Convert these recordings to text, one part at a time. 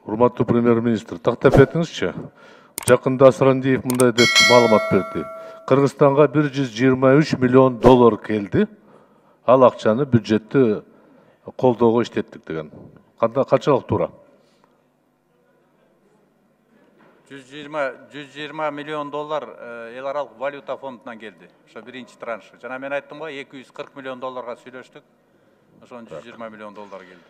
Урматтуу премьер-министр, тактап этиңизчи. Жакында Асрандиев мындай деп маалымат берди. Кыргызстанга 123 миллион доллар келди. Ал акчаны бюджетти колдоого иштеттик деген. Канчалык туура? 120 миллион доллар эл аралык валюта фондунан келди. Ошо биринчи транш. Жана мен айттым го 240 миллион долларга сүйлөштүк. Ошон 120 миллион доллар келди.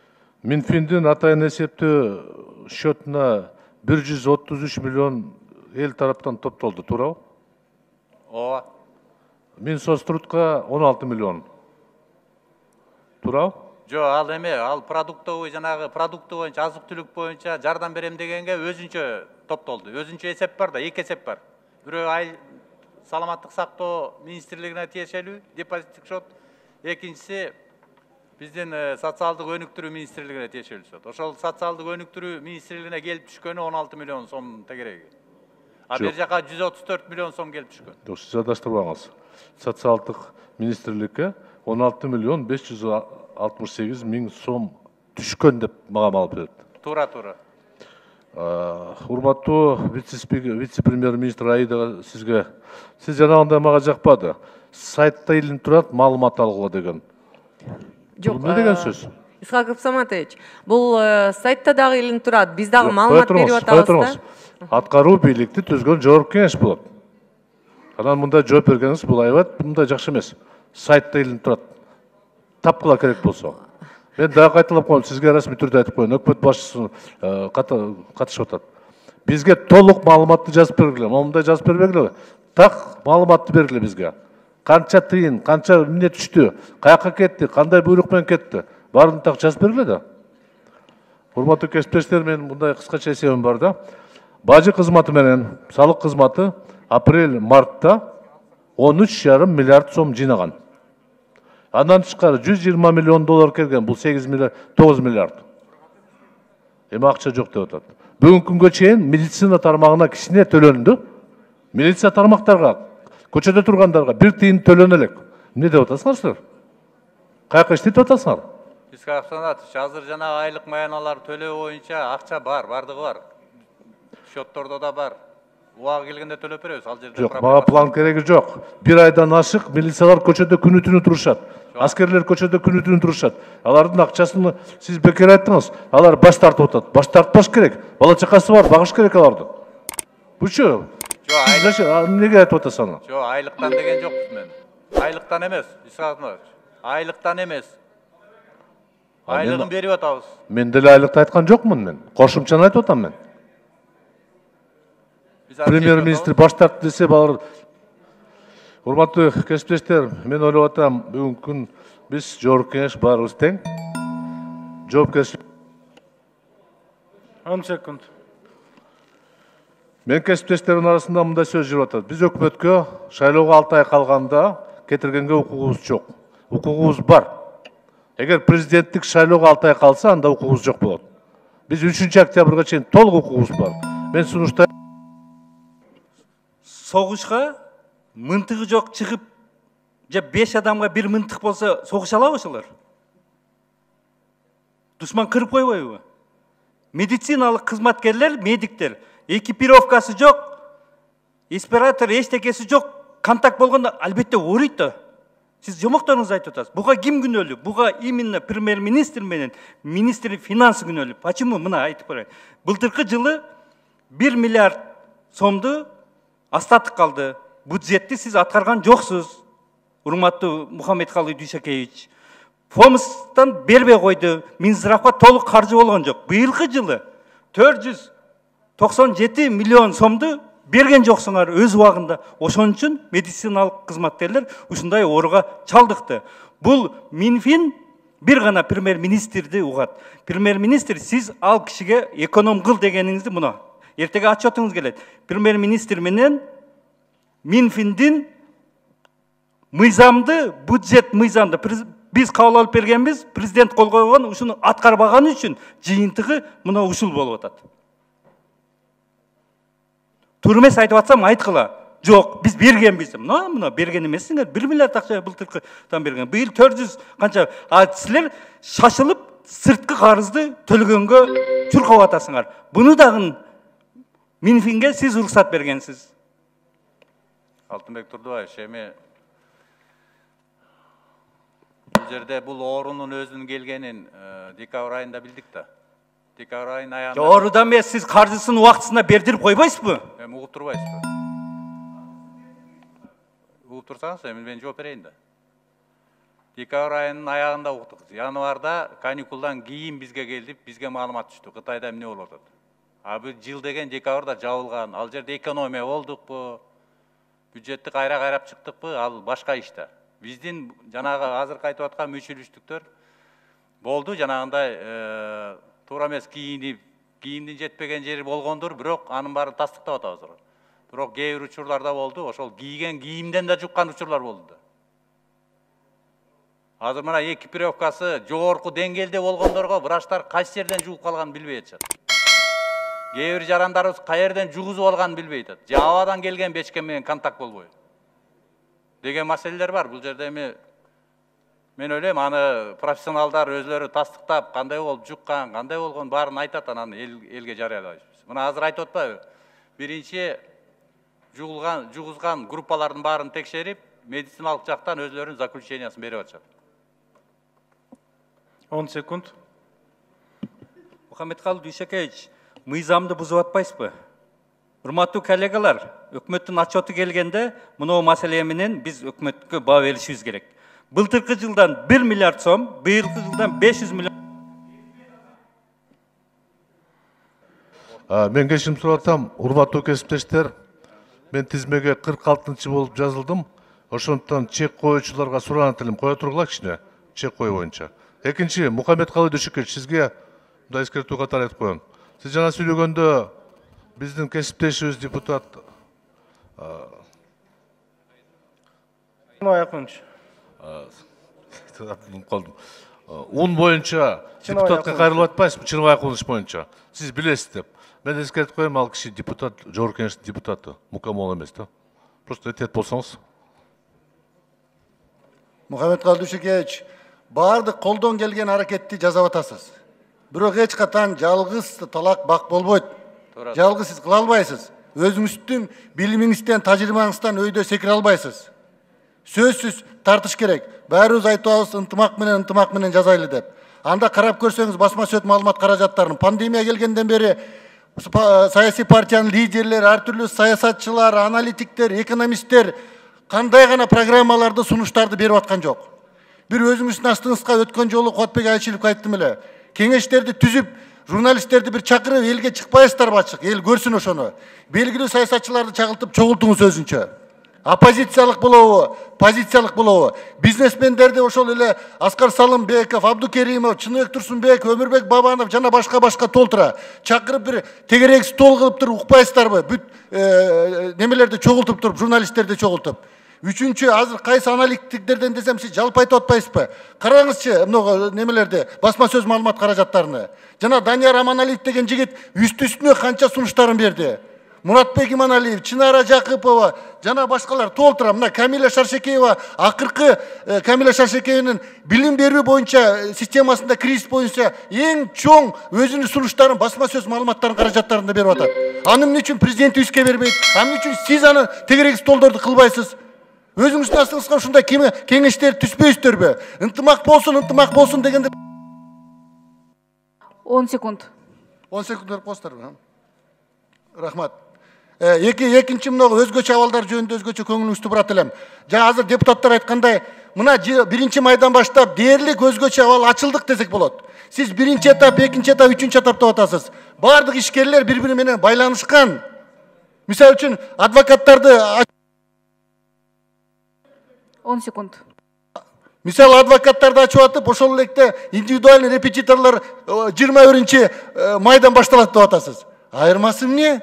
Минфиндин атайын эсептөө счетуна 133 миллион эл тараптан топтолду, туурабы? Ооба. Минсоцтрудка 16 миллион. Туурабы? Жок, ал эме, ал продуктовый жанагы продукты боюнча, азык-түлүк боюнча жардам берем дегенге өзүнчө топтолду. Өзүнчө эсеп бар да, эки эсеп бар. Бирөө саламаттык сактоо министрлигине тиешелүү депозиттик счет, экинчиси биздин социалдык өнүктүрүү министрлигине тиешелүү счет. Ошол социалдык өнүктүрүү министрлигине келип түшкөнү 16 миллион сом тегереги. А бер жака 134 миллион сом келип түшкөн. Жок, сиз адаштырбаңыз. Социалдык министрликке 16 миллион 568 миң сом түшкөн деп мага маалымат берди. Туура. Урматтуу вице-премьер-министр Аида сизге, сиз жанагындай мага жакпады. Сайтта илинип турат, маалымат алгыла деген. Жок, эмне деген сөз? Исхаков Саматович, бул сайтта дагы илинип турат. Биз дагы маалымат берип атабыз да. Аткаруу бийликти түзгөн жогорку кеңеш болот. Анан мындай жооп бергениңиз бул аябат мындай жакшы эмес. Сайтта илинип турат. Тапкыла керек болсо. Мен дагы кайталап коем, сизге расмий түрдө айтып коеюн. Өкмөт башчысы катышып атат. Бизге толук маалыматты жазып бергиле. Мындай жазып бербегиле. Так маалыматты бергиле бизге. Канча тыйын, канча эмне түштү, каяка кетти, кандай буйрук менен кетти. Баарын так жазып бергиле да. Урматтуу кесиптештер, мен мындай кыскача эсебим бар да. Бажы кызматы менен салык кызматы апрель-мартта 13,5 миллиард сом жыйнаган. Андан тышкары 120 миллион доллар келген, бул 9 миллиард. Эми акча жок деп атат. Бүгүнкү күнгө чейин медицина тармагына кичине төлөндү. Милиция тармактарга, көчөдө тургандарга бир тыйын төлөнө элек. Эмне деп атасыңар силер? Каяка иштетип атасыңар? Исхаков Саматович, азыр жана айлык маяналар төлөө боюнча акча бар, бардыгы бар. Счеттордо да бар. Убагы келгенде төлөп беребиз, ал жерде. Жок, мага план кереги жок. Бир айдан ашык милициялар көчөдө күнү-түнү турушат. Аскерлер көчөдө күнү-түнү турушат. Алардын акчасын сиз бекер айттыңыз. Алар баш тартып атат. Баш тартпаш керек. Бала чакасы бар, багыш керек аларды. Бучу? Жок, эмнеге айтып атасың? Жок, айлыктан деген жокпуз мен. Айлыктан эмес, Исхаков Саматович. Айлыктан эмес. Айлыгын берип атабыз. Мен деле айлыкты айткан жокмун мен. Кошумчаны айтып атам мен. Премьер-министр баш тартты десе балар. Урматтуу кесиптештер, мен ойлоп атам, бүгүнкү күн биз жогорку кеңеш баарыбыз тең. Жоопкерчилик. 10 секунд. Мен кесиптештердин арасында мындай сөз жүрүп атат. Биз өкмөткө шайлоого 6 ай калганда кетиргенге укугубуз жок. Укугубуз бар. Эгер президенттик шайлоого 6 ай калса, анда укугубуз жок болот. Биз 3 октябрга чейин толук укугубуз бар. Мен сунуштайм. Согушка мынтыгы жок чыгып, же 5 адамга бир мынтык болсо согуша алабы ошолор? Душман кырып койбойбу? Медициналык кызматкерлер, медиктер, экипировкасы жок, респиратор эчтекеси жок, контакт болгондо албетте ооруйт да. Сиз жомокторуңузду айтып атасыз. Буга ким күнөөлүү? Буга именно премьер-министр менен министр финансы күнөөлүү. Почему? Мына айтып берейин. Былтыркы жылы 1 миллиард сомду астатык калды. Бюджетти сиз аткарган жоксуз. Урматтуу Мухаммедкалый Дүйшөкеевич. Фомстан бербей койду. Минздравга толук каржы болгон жок. Быйылкы жылы 497 миллион сомду берген жоксуңар өз убагында. Ошон үчүн медициналык кызматкерлер ушундай ооруга чалдыкты. Бул Минфин бир гана премьер-министрди угат. Премьер-министр сиз ал кишиге эконом кыл дегениңизди мына эртеге отчетуңуз келет. Премьер-министр менен Минфиндин мыйзамды, бюджет мыйзамды биз кабыл алып бергенбиз, президент кол койгон, ушуну аткарбаганы үчүн жыйынтыгы мына ушул болуп атат. Турмес айтып атсам айткыла. Жок, биз бергенбиз. Мына берген эмессиңер. 1 миллиард акча былтыркыдан берген. Быйыл 400 канча. А силер шашылып сырткы карызды төлөгөнгө чуркап атасыңар. Буну дагы Минфинге сиз уруксат бергенсиз. Алтынбек Турдубаевич, эми бул жерде бул оорунун өзүнүн келгенин декабрь айында билдик да. Декабрь айынын аягында. Оорудан эмес, сиз каржысын убактысында бердирип койбойсузбу? Эми угуп турбайсызбы? Угуп турсаңыз, эми мен жооп берейин да. Декабрь айынын аягында уктук. Январда каникулдан кийин бизге келип, бизге маалымат түштү. Кытайда эмне болуп атат? А бул жыл деген декабрда жабылган. Ал жерде экономия болдукпу? Бюджетти кайрап чыктыкпы? Ал башка иш да. Биздин жанагы азыркы айтып аткан мүчүлүштүктөр болду, жанагындай туура эмес кийимдин жетпеген жери болгондур, бирок анын баарын тастыктап атабыз. Бирок кээ бир учурларда болду, ошол кийген кийимден да жуккан учурлар болду да. Азыр мына экипировкасы жогорку деңгээлде болгондорго врачтар кайсы жерден жугуп калганын билбей атышат. Кээ бир жарандарыбыз кай жерден жугузуп алганын билбей атат. Же абадан келген бечке менен контакт болбой деген маселелер бар. Бул жерде эми мен ойлойм, аны профессионалдар өзлөрү тастыктап, кандай болуп жуккан, кандай болгон баарын айтат, анан элге жарыялайбыз. Мына азыр айтып атпайбы? Биринчи жугузган группалардын баарын текшерип, медициналык жактан өзлөрүнүн заключениясын берип атышат. 10 секунд. Мухаммедкалый Дүйшекеевич, мыйзамды бузуп атпайсызбы? Урматтуу коллегалар, өкмөттүн отчету келгенде мынау маселе менен биз өкмөткө баа беришибиз керек. Былтыркы жылдан 1 миллиард сом, быйылкы жылдан 500 миллион. Мен кеширим сурап атам, урматтуу кесиптештер. Мен тизмеге 46-чы болуп жазылдым. Ошондуктан чек коюучуларга суранат элем, кое тургула кичине, чек кою боюнча. Экинчи, Мухаммедкалый Дүйшекеевич, сизге мындай эскертүү катары айтып коеюн. Сиз жана сүйлөгөндө биздин кесиптешибиз депутат ун боюнча депутатка кайрылып атпайсызбы, чыныбай кылыш боюнча. Сиз билесиз деп. Мен эскертип коем, ал киши депутат, жогорку кеңештин депутаты, мукамол эмес да. Просто этет болсоңуз. Мухаммедкалый Дүйшекеевич, баардык колдон келген аракетти жасап атасыз. Бирок эч качан жалгыз талак бак болбойт. Жалгыз сиз кыла албайсыз. Өзүңүздүн билимиңизден, тажрыйбаңыздан өйдө секире албайсыз. Сөзсүз тартыш керек. Баарыбыз айтабыз, ынтымак менен жазайлы деп. Анда карап көрсөңүз, басма сөз маалымат каражаттарын пандемия келгенден бери саясий партиянын лидерлери, ар түрлүү саясатчылар, аналитиктер, экономисттер кандай гана программаларды, сунуштарды берип аткан жок. Бир өзүңүздүн астыңызга өткөн жолу Куатбек Айчиловго айттым эле. Кеңештерди түзүп, журналисттерди бир чакырып, элге чыкпайсыздарбы ачык, эл көрсүн ошону. Белгилүү саясатчыларды чагылтып чогултуңуз өзүнчө. Оппозициялык болобу, позициялык болобу. Бизнесмендерди ошол эле Аскар Салымбеков, Абдукеримов, Чыныбек Турсунбек, Өмүрбек Бабанов жана башка толтура чакырып бир тегерек стол кылып туруп укпайсыздарбы? Бүт немелерди чогултуп туруп, журналисттерди чогултуп. Үчүнчү, азыр кайсы аналитиктерден десем, сиз жалпы айтып атпайсызбы? Караңызчы, мына немелерди, басма сөз маалымат каражаттарыны. Жана Данияр Аманалиев деген жигит үстү-үстүнө канча сунуштарын берди. Муратбек Иманалиев, Чынара Жакыпова, жана башкалар толтура. Мына Камиля Шаршекеева, акыркы Камиля Шаршекееванын билим берүү боюнча системасында кризис боюнча эң чоң өзүнүн сунуштарын, басма сөз маалыматтарын каражаттарында берип атат. Аны эмне үчүн президентибизге бербейт? Аны үчүн сиз аны тегерек столдорду кылбайсыз? Өзүңүздүн астыңызга ушундай кеңештер түзбөйсүздөрбү? Ынтымак болсун дегенде 10 секунд. 10 секунд берип коесуздарбы? Рахмат. Экинчи мына өзгөчө абалдар жөнүндө өзгөчө көңүлүңүздү бурат элем. Жана азыр депутаттар айткандай, мына 1 майдан баштап дээрлик өзгөчө абал ачылдык десек болот. Сиз 1 этап, 2 этап, 3 этап деп атасыз. Бардык ишкерлер бири-бири менен байланышкан. Мисалы үчүн адвокаттарды 10 секунд. Мисалы адвокаттарды ачып атып, ошол электе индивидуальный репетиторлор 21 майдан башталат деп атасыз. Айырмасы эмне?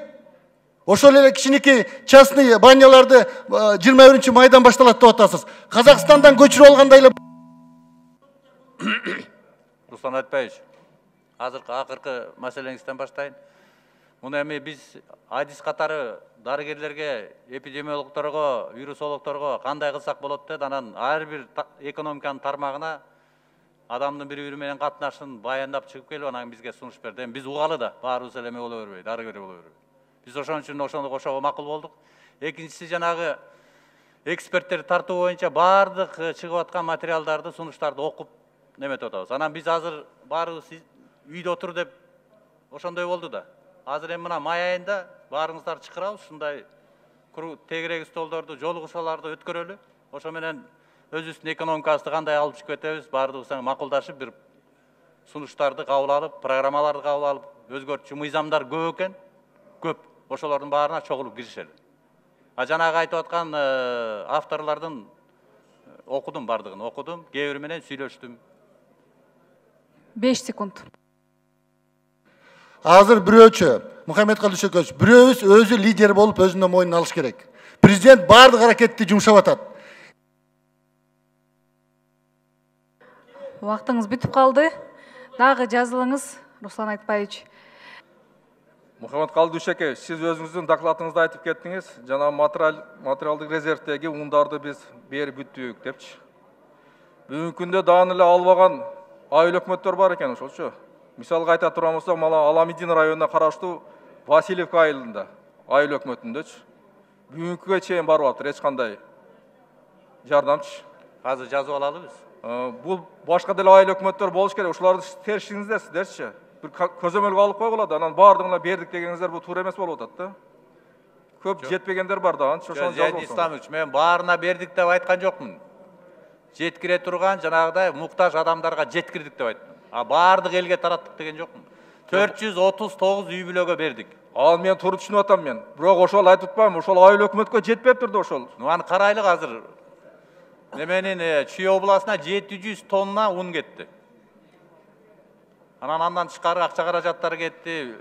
Ошол эле кичинекей частный баняларды 21 майдан башталат деп атасыз. Казакстандан көчүрүп алгандай эле. Руслан Айтбаевич, акыркы маселеңизден баштайын. Муну эми биз адис катары дарыгерлерге, эпидемиологторго, вирусологторго кандай кылсак болот деп, анан ар бир экономиканын тармагына адамдын бири менен катнашын баяндап чыгып келип анан бизге сунуш берди. Эми биз угалы да баарыбыз эле эме боло бербейт, ары бери боло бербейт. Биз ошон үчүн ошону кошого макул болдук. Экинчиси жанагы эксперттер тартуу боюнча баардык чыгып аткан материалдарды, сунуштарды окуп неметип атабыз. Анан биз азыр баарыбыз үйдө отур деп ошондой болду да. Азыр эми мына май айында баарыңыздар чакырабыз, ушундай тегерек столдорду, жолугушууларды өткөрөлү. Ошо менен өзүбүздүн экономикабызды кандай алып чыгып кетебиз, баардыгыбыз макулдашып бир сунуштарды кабыл алып, программаларды кабыл алып, өзгөртчү мыйзамдар көп экен, көп. Ошолордун баарына чогулуп киришели. А жанагы айтып аткан авторлордун окудум, бардыгын окудум, кээ бири менен сүйлөштүм. 5 секунд. Азыр бирөөчү, Мухаммедкалый Дүйшөкөч, бирөөбүз өзү лидер болуп өзүнүн мойнуна алыш керек. Президент баардык аракетти жумшап атат. Убактыңыз бүтүп калды. Дагы жазылыңыз, Руслан Айтбаевич. Мухаммедкалый Дүйшөкөч, сиз өзүңүздүн докладыңызда айтып кеттиңиз, жана материалдык резервдеги ундарды биз берип бүттүк депчи. Бүгүнкү күндө дааны эле албаган айыл өкмөттөр бар экен ошолчу. Мисалга айта турган болсок, мына Аламидин районуна караштуу Васильевка айылында айыл өкмөтүндөчү. Бүгүнкүгө чейин барып атыр, эч кандай жардамчы. Азыр жазып алалы биз. Бул башка деле айыл өкмөттөр болуш керек. Ушуларды теришиңиздер сиздерчи. Бир көзөмөлгө алып койгула, анан баардыгына бердик дегениңиздер бул туура эмес болуп атат да. Көп жетпегендер бар да, ошону жазып алсаңыз. Исламович, мен баарына бердик деп айткан жокмун. Жеткире турган жанагыдай муктаж адамдарга жеткирдик деп айттым. А баардык элге тараттык деген жокмун. 439 үй бүлөгө бердик. Ал мен туура түшүнүп атам мен. Бирок ошол айтып атпаймынбы, ошол айыл өкмөткө жетпептир да ошол. Аны карайлык азыр. Неменин Чүй областына 700 тонна un кетти. Андан тышкары акча каражаттары кетти.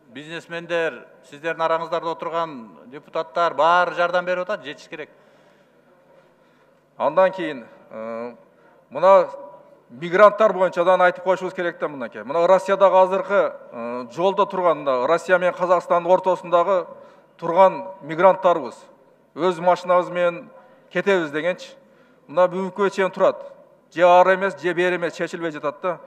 Бизнесмендер, сиздердин араңыздарда отурган депутаттар баары жардам берип атат, жетиш керек. Андан кийин мына мигранттар боюнча да айтып коюшубуз керек да мынакей. Мына Россиядагы азыркы жолдо турган, Россия менен Казакстандын ортосундагы турган мигранттарыбыз өз машинабыз менен кетебиз дегенчи. Мына бүгүнкүгө чейин турат. Же ары эмес, же бери эмес чечилбей жатат да.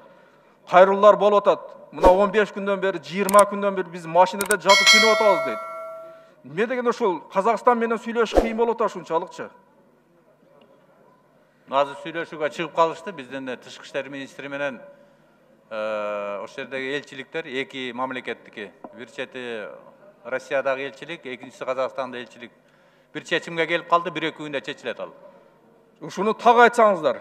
Кайрылуулар болуп атат. Мына 15 күндөн бери, 20 күндөн бери биз машинада жатып күнөп атабыз дейт. Эмне дегенде ушул Казакстан менен сүйлөшүш кыйын болуп атат ушунчалыкчы. Азыр сүйлөшүүгө чыгып калышты. Биздин тышкы иштер министри менен ошол жердеги элчиликтер, эки мамлекеттики, бир чети Россиядагы элчилик, экинчиси Казакстандагы элчилик бир чечимге келип калды, 1-2 күндө чечилет ал. Ушуну так айтсаңыздар.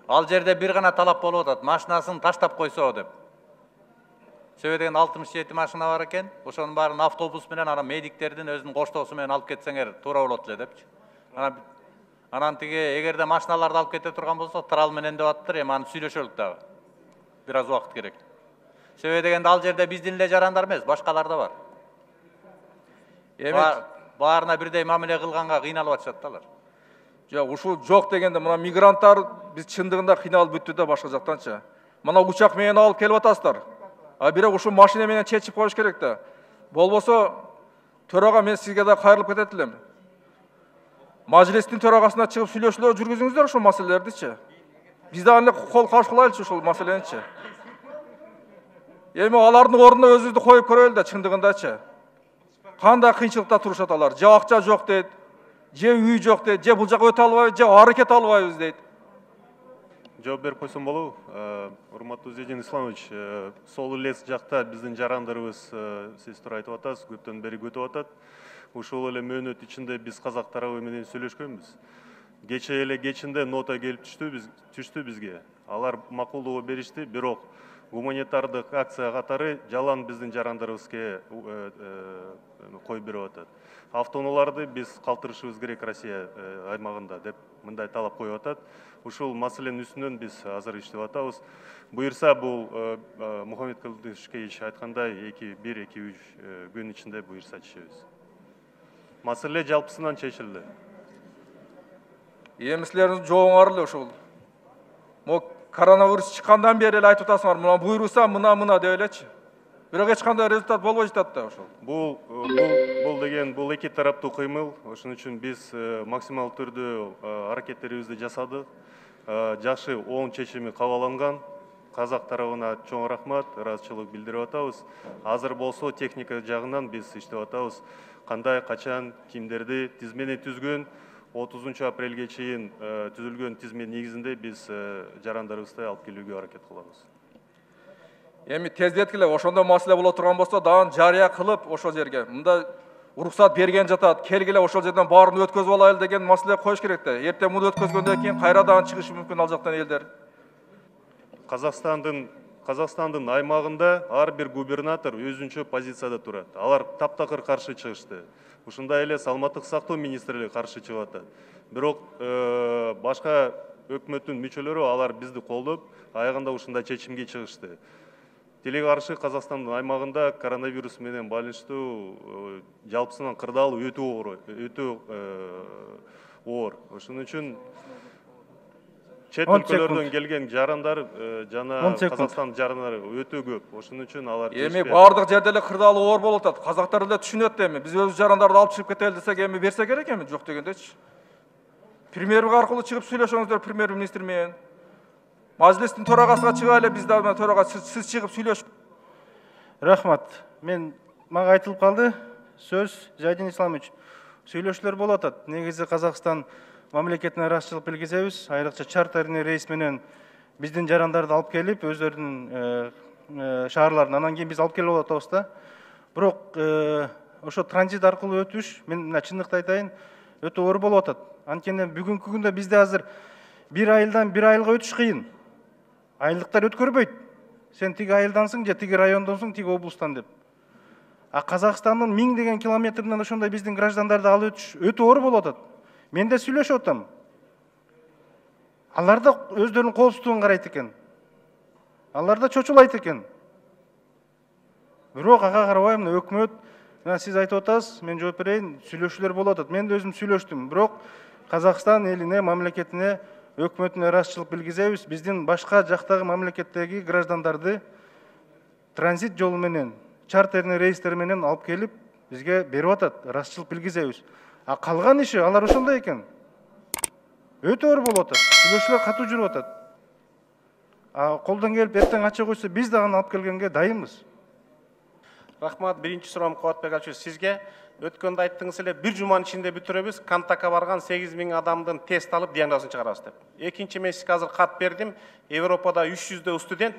Ал жерде бир гана талап болуп атат, машинасын таштап койсо деп. Себеби деген 67 машина бар экен. Ошонун баарын автобус менен ана медиктердин өзүнүн коштоосу менен алып кетсеңер туура болот эле депчи. Анан тиги эгерде машиналарды алып кете турган болсо, трал менен деп аттыр, эми аны сүйлөшөлүк дагы. Бир аз убакыт керек. Себеби дегенде ал жерде биздин эле жарандар эмес, башкалар да бар. Эми баарына бирдей мамиле кылганга кыйналып атышат да алар. Жок, ушул жок дегенде мына мигранттар биз чындыгында кыйналып бүттү да башка жактанчы. Мына учак менен алып келип атасыздар. А бирок ушул машина менен чечип коюш керек да. Болбосо төрага мен сизге да кайрылып кетет элем. Majlistин төрагасына чыгып сүйлөшүүлөр жүргүзүңүздөр ушул маселелердичи. Биз да аны кол каршы кылайлычы ушул маселеничи. Эми алардын ордуна өзүбүздү коюп көрөлү да чындыгындачы. Кандай кыйынчылыкта турушат алар? Же акча жок дейт, же үй жок дейт, же бул жака өтө албайбыз, же ары кете албайбыз дейт. Жооп берип койсом болобу? Урматтуу Зейдин Исламович, сол эле жакта биздин жарандарыбыз сиз туура айтып атасыз, көптөн бери күтүп атат. Ушул эле мөөнөт ичинде биз казак тарабы менен сүйлөшкөнбүз. Кече эле кечинде нота келип түштү бизге. Алар макулдоо беришти, бирок гуманитардык акция катары жалаан биздин жарандарыбызга коюп берип атат. Автоунааларды биз калтырышыбыз керек Россия аймагында деп мындай талап коюп атат. Ушул маселенин үстүнөн биз азыр иштеп атабыз. Буюрса бул Мухаммедкалый Дүйшөкөч айткандай 1-2-3 күн ичинде буюрса чечебиз. Маселе жалпысынан чечилди. Эми силердин жообуңар эле ушул. Мо коронавирус чыккандан бери эле айтып атасыңар, мына буйруса мына деп элечи. Бирок эч кандай результат болбой жатат да ошол. Бул эки тараптуу кыймыл. Ошон үчүн биз максимал түрдө аракеттерибизди жасадык. жакшы оң чечими кабыл алынган. Казак тарабына чоң рахмат, ыраазычылык билдирип атабыз. Азыр болсо техника жагынан биз иштеп атабыз. Кандай, качан, кимдерди тизмени түзгөн, 30 апрелге чейин түзүлгөн тизме негизинде биз жарандарыбызды алып келүүгө аракет кылабыз. Эми тездеткиле ошондой маселе боло турган болсо, дагы жарыя кылып ошол жерге мында уруксат берген жатат, келгиле ошол жерден баарын өткөзүп алайлы деген маселе коюш керек да. Эртең муну өткөзгөндөн кийин кайра дагы чыгышы мүмкүн ал жактан элдер. Казакстандын аймагында ар бир губернатор өзүнчө позицияда турат. Алар таптакыр каршы чыгышты. Ушундай эле саламаттык сактоо министрлиги каршы чыгып атат. Бирок башка өкмөттүн мүчөлөрү алар бизди колдоп, аягында ушундай чечимге чыгышты. Тиле каршы Казакстандын аймагында коронавирус менен байланыштуу жалпысынан кырдаал өтө оор. Ошон үчүн чет өлкөлөрдөн келген жарандар жана Казакстан жарандары өтө көп. Ошон үчүн алар эми бардык жерде эле кырдаалы оор болуп атат. Казактар эле түшүнөт эми. Биз өз жарандарды алып чыгып кетели десек, эми берсе керек эми, жок дегендечи. Премьер аркылуу чыгып сүйлөшөңүздөр премьер-министр менен. Мажлистин төрагасына чыга эле, биз дагы төрага сиз чыгып сүйлөшүп. Рахмат. Мага айтылып калды. Сөз Зайдин Исламович. Сүйлөшүүлөр болуп атат. Негизи Казакстан мамлекетине ыраазычылык билгизебиз. Айрыкча чартерный рейс менен биздин жарандарды алып келип, өздөрүнүн шаарларына, анан кийин биз алып келип атабыз да. Бирок ошо транзит аркылуу өтүш, мен мына чындыкты айтайын, өтө оор болуп атат. Анткени бүгүнкү күндө бизде азыр 1 айылдан 1 айылга өтүш кыйын. Айлыктар өткөрбөйт. Сен тиги айылдансың же тиги райондонсуң, тиги облустан деп. А Казакстандын 1000 деген километринен ошондой биздин граждандарды алып өтүш өтө оор болуп атат. Мен де сүйлөшүп атам. Алар да өздөрүнүн коопсуздугун карайт экен. Алар да чочулайт экен. Бирок ага карабай мына өкмөт, сиз айтып атасыз, мен жооп берейин, сүйлөшүүлөр болуп атат. Мен да өзүм сүйлөштүм. Бирок Казакстан элине, мамлекетине, өкмөтүнө ыраазычылык билгизебиз. Биздин башка жактагы мамлекеттеги граждандарды транзит жолу менен, чартерный рейстер менен алып келип, бизге берип атат, ыраазычылык билгизебиз. А калган иши алар ошондой экен. Өтө оор болуп атат. Сүйлөшүүлөр катуу жүрүп атат. А колдон келип эртең ача койсо, биз дагы алып келгенге дайынбыз. Рахмат, биринчи суроом Кубатбек Алчевич сизге. Өткөндө айттыңыз эле, бир жуманын ичинде бүтүрөбүз, контактка барган 8000 адамдын тест алып диагнозун чыгарабыз деп. Экинчи мен сизге азыр кат бердим. Европада 300 студент,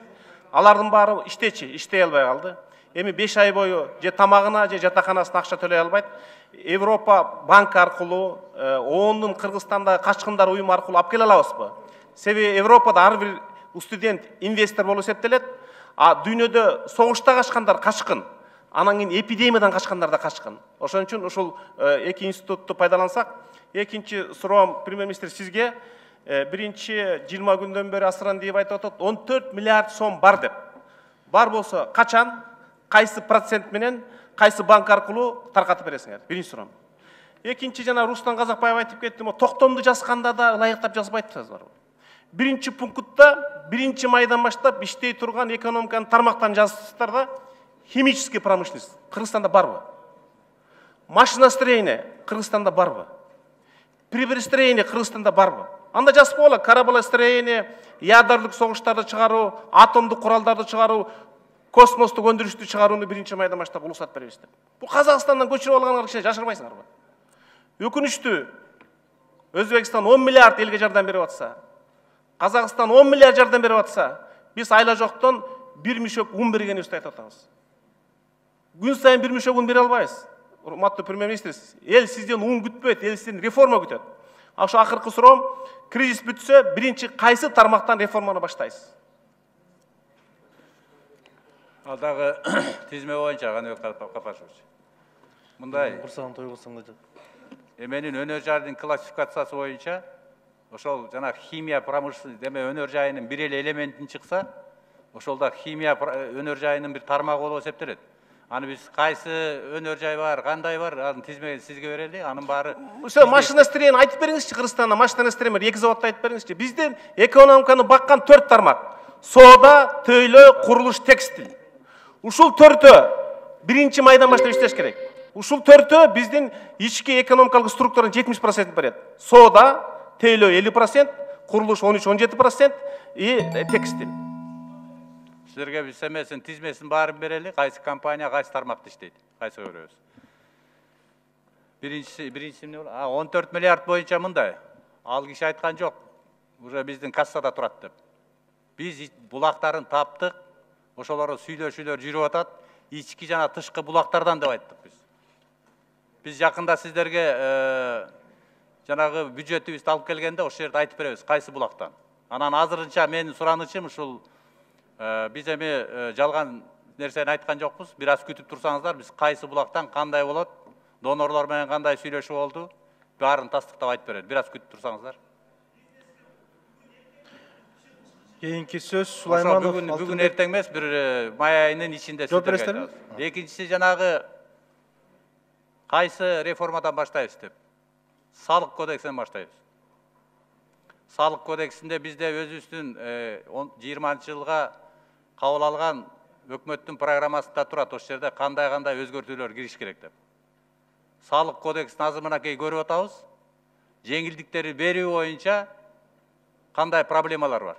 алардын баары иштей албай калды. Эми 5 ай бою же тамагына же жатаканасына акча төлөй албайт. Европа банк аркылуу, ООНдун Кыргызстанда качкындар уюму аркылуу алып келе алабызбы? Себеби Европада ар бир студент инвестор болуп эсептелет, а дүйнөдө согушта качкандар качкын. Анан кийин эпидемиядан качкандар да качкын. Ошон үчүн ушул эки институтту пайдалансак, экинчи суроом премьер-министр сизге. Биринчи 20 күндөн бери Асыран деп айтып атат, 14 миллиард сом бар деп. Бар болсо качан, кайсы процент менен, кайсы банк аркылуу таркатып бересиңер? Биринчи суроом. Экинчи жана Рустам Казакбаев айтып кетти, токтомду жазганда да ылайыктап жазбайсыздар. Биринчи пунктта 1 майдан баштап иштей турган экономиканын тармактарын жазсыздар да, химический промышленность Кыргызстанда барбы? Машиностроение Кыргызстанда барбы? Приборостроение Кыргызстанда барбы? Анда жазып коела, кораблестроение, ядерлик согуштарды чыгаруу, атомдук куралдарды чыгаруу, космостук өндүрүштү чыгарууну 1 майдан баштап улуусат беребиз деп. Бул Казакстандан көчүрүп алгандар киши жашырбайсыңарбы? Өкүнүчтүү, Өзбекстан 10 миллиард элге жардам берип атса, Казакстан 10 миллиард жардам берип атса, биз айла жоктон 1 мишок ун бергенибизди айтып атабыз. Күн сайын 1 мишок ун бере албайбыз. Урматтуу премьер-министр, эл сизден ун күтпөйт, эл сизден реформа күтөт. Ошо акыркы суроом, кризис бүтсө, биринчи кайсы тармактан реформаны баштайсыз? Ал дагы тизме боюнча Каныбек Капашевич. Мындай. Курсагын тойгусаң да жок. Менин өнөр жайынын классификациясы боюнча, ошол жана химия промышленность деме өнөр жайынын бир эле элементин чыкса, ошолда химия өнөр жайынын бир тармагы болуп эсептелет. Аны биз кайсы өнөр жай бар, кандай бар, анын тизмени сизге берели, анын баары. Ошо машиностроение айтып бериңизчи, Кыргызстанда машиностроение 2 заводду айтып бериңизчи. Биздин экономиканы баккан 4 тармак: соода, төйлөө, курулуш, текстиль. Ушул 4-ө 1 майдан баштап иштеш керек. Ушул 4-ө биздин ички экономикалык структуранын 70% берет. Соода, төйлөө 50%, курулуш 13-17% и текстиль. Силерге биз эмесин тизмесин баарын берели, кайсы компания кайсы тармакта иштейт, кайсы көрөбүз. Биринчиси эмне болот? 14 миллиард боюнча мындай. Ал киши айткан жок. Уже биздин кассада турат деп. Биз булактарын таптык, ошолорго сүйлөшүүлөр жүрүп атат. Ички жана тышкы булактардан деп айттык биз. Биз жакында сиздерге жанагы бюджетибизди алып келгенде ошол жерде айтып беребиз, кайсы булактан. Анан азырынча менин суранычым ушул биз эми жалган нерсени айткан жокпуз. Бир аз күтүп турсаңыздар, биз кайсы булактан кандай болот, донорлор менен кандай сүйлөшүү болду, баарын тастыктап айтып берет. Бир аз күтүп турсаңыздар. Кийинки сөз Сулайманов. Бүгүн эртең эмес, бир май айынын ичинде сиздерге айтабыз. Экинчиси жанагы кайсы реформадан баштайбыз деп. Салык кодексинен баштайбыз. Салык кодексинде бизде өзүбүздүн 20-жылга кабыл алган өкмөттүн программасында турат, ошол жерде кандай өзгөртүүлөр кириш керек деп. Салык кодексин азыр мынакей көрүп атабыз. Жеңилдиктерди берүү боюнча кандай проблемалар бар.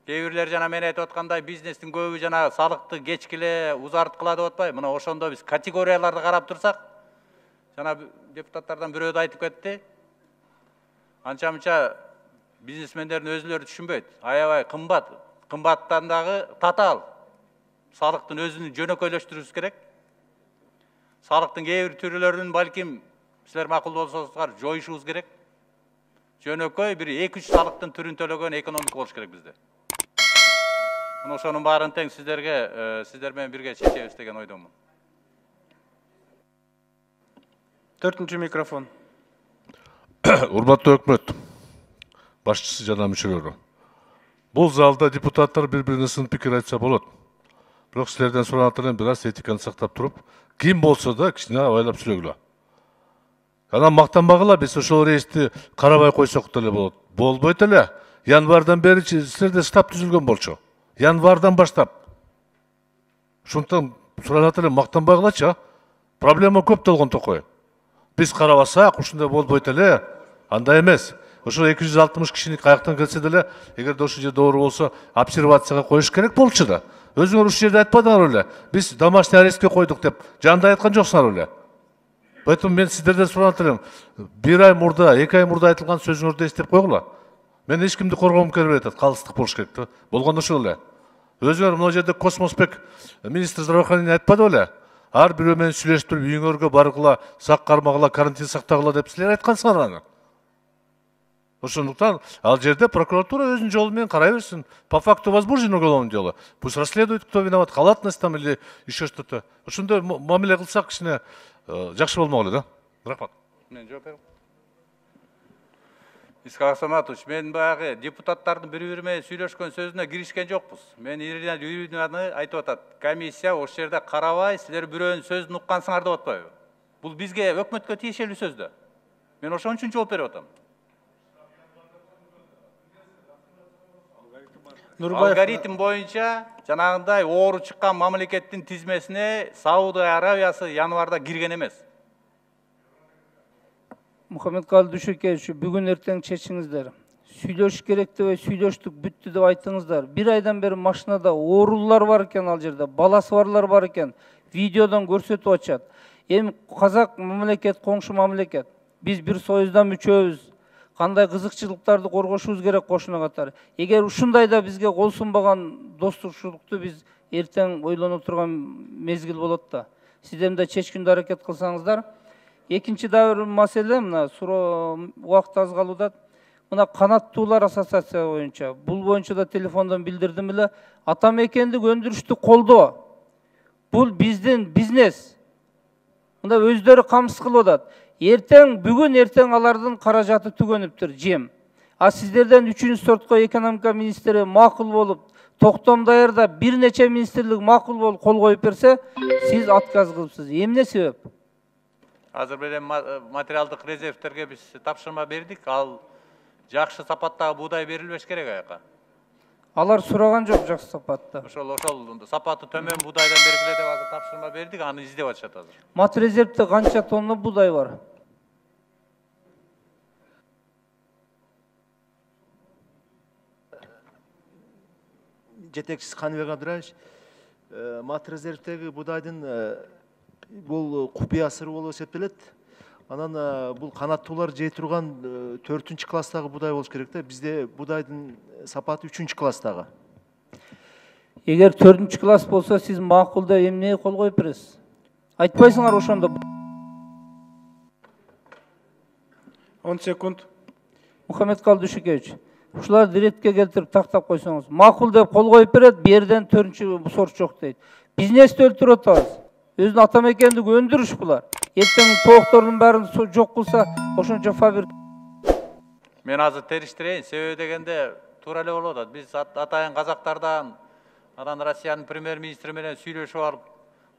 Кээ бирлер жана мен айтып аткандай бизнестин көбү жана салыкты кечкиле узарткыла деп атпайбы? Мына ошондо биз категорияларды карап турсак, жана депутаттардан бирөө да айтып кетти. Анча-мынча бизнесмендердин өзүлөрү түшүнбөйт. Аябай кымбат. Кымбаттан дагы татаал. Салыктын өзүн жөнөкөйлөштүрүбүз керек. Салыктын кээ бир түрлөрүн балким силер макул болсоңуздар жоюшубуз керек. Жөнөкөй бир 2-3 салыктын түрүн төлөгөн экономика болуш керек бизде. Мына ошонун баарын тең сиздер менен бирге чечебиз деген ойдомун. 4-үнчү микрофон. Урматтуу өкмөт башчысы жана мүчөлөрү. Бул залда депутаттар бири-бирине сын пикир айтса болот. Бирок силерден суранат элем бир аз этиканы сактап туруп, ким болсо да кичине абайлап сүйлөгүлө. Анан мактанбагыла, биз ошол рейсти карабай койсок деле болот. Болбойт эле. Январдан бери силерде штаб түзүлгөн болчу. Январдан баштап. Ошондон суранат элем мактанбагылачы. Проблема көп болгон токой. Биз карабасак, ушундай болбойт эле. Андай эмес. Ошо 260 кишини каяктан келсе деле, эгерде ошол жерде дооро болсо, обсервацияга коюш керек болчу да. Өзүңөр ушул жерде айтпадыңар эле. Биз домашний арестке койдук деп, жанда айткан жоксуңар эле. Поэтому мен сиздерден суранат элем, 1 ай мурда, 2 ай мурда айтылган сөзүңөрдү эстеп койгула. Мен эч кимди коргоом келбей атат, калыстык болуш керек да. Болгондо ошол эле. Өзүңөр мына жерде Космосбек министр здравоохранения айтпады беле? Ар бирөө менен сүйлөшүп туруп, үйүңөргө баргыла, сак кармагыла, карантин сактагыла деп силер айткансыңар аны. Ошондуктан ал жерде прокуратура өзүнүн жолу менен карай берсин. По факту возбуждено уголовное дело. Пусть расследует, кто виноват, халатность там или еще что-то. Ошондой мамиле кылсак кичине жакшы болмок эле да. Рахмат. Мен жооп берем. Исхак Саматович, мен баягы депутаттардын бири-бири менен сүйлөшкөн сөзүнө киришкен жокпуз. Мен Иринаны айтып атат. Комиссия ошол жерде карабай, силер бирөөнүн сөзүн уккансыңар деп атпайбы? Бул бизге өкмөткө тиешелүү сөз да. Мен ошон үчүн жооп берип атам. Алгоритм боюнча жанагындай оору чыккан мамлекеттин тизмесине Саудия Арабиясы январда кирген эмес. Мухаммедкалый Дүйшөкеевич, бүгүн эртең чечиңиздер. Сүйлөшүш керек деп сүйлөштүк, бүттү деп айттыңыздар. 1 айдан бери машинада оорулар бар экен, ал жерде баласы барлар бар экен. Видеодон көрсөтүп атышат. Эми казак мамлекет, коңшу мамлекет. Биз бир союздан мүчөбүз. Кандай кызыкчылыктарды коргошубуз керек кошуна катары. Эгер ушундайда бизге кол сунбаган достушулукту биз эртең ойлонуп турган мезгил болот да. Сиздер да чечкиндүү аракет кылсаңыздар. Экинчи да бир маселе, мына суроо убакыт аз калууда. Мына канаттуулар ассоциация боюнча, бул боюнча да телефондон билдирдим эле, атамекендик өндүрүштү колдоо. Бул биздин бизнес. Мында өздөрү камсыз кылып атат. Бүгүн эртең алардын каражаты түгөнүптүр, жем. А сиздерден 3-чү сортко экономика министри макул болуп, токтом даярдап, бир нече министрлик макул болуп кол коюп берсе, сиз отказ кылыпсыз. Эмне себеп? Азыр менен материалдык резервтерге биз тапшырма бердик. Ал жакшы сапаттагы буудай берилбеш керек аяка. Алар сураган жок жакшы сапатта. Ошол сапаты төмөн буудайдан бергиле деп азыр тапшырма бердик, аны издеп атышат азыр. Мат резервте канча тонна буудай бар? жетекчиси Каныбек Абдыраевич, Мат резервдеги будайдын бул купуя сыры болуп эсептелет. Анан бул канаттуулар жей турган 4-класстагы будай болуш керек да. Бизде будайдын сапаты 3-класстагы. Эгер 4-класс болсо, сиз макулда эмнеге кол коюп бересиз? Айтпайсыңар ошондо. 10 секунд. Мухаммедкалый Дүйшөкевич, ушуларды ретке келтирип тактап койсоңуз. Макул деп кол коюп берет, берден 4-сорт жок дейт. Бизнести өлтүрүп атабыз. Өзүнүн ата мекендиги өндүрүш булар. Эртең тооктордун баарын жок кылса, ошончо фабрика. Мен азыр териштирейин, себеби дегенде туура эле болуп атат. Биз атайын казактардан анан Россиянын премьер-министри менен сүйлөшүп алып,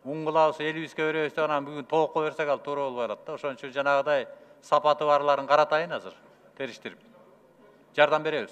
уң кылабыз, элибизге беребиз деп анан бүгүн тоокко берсек ал туура болбой атат да. Ошон үчүн жанагыдай сапаты барларын каратайын азыр териштирип. Жардам беребиз.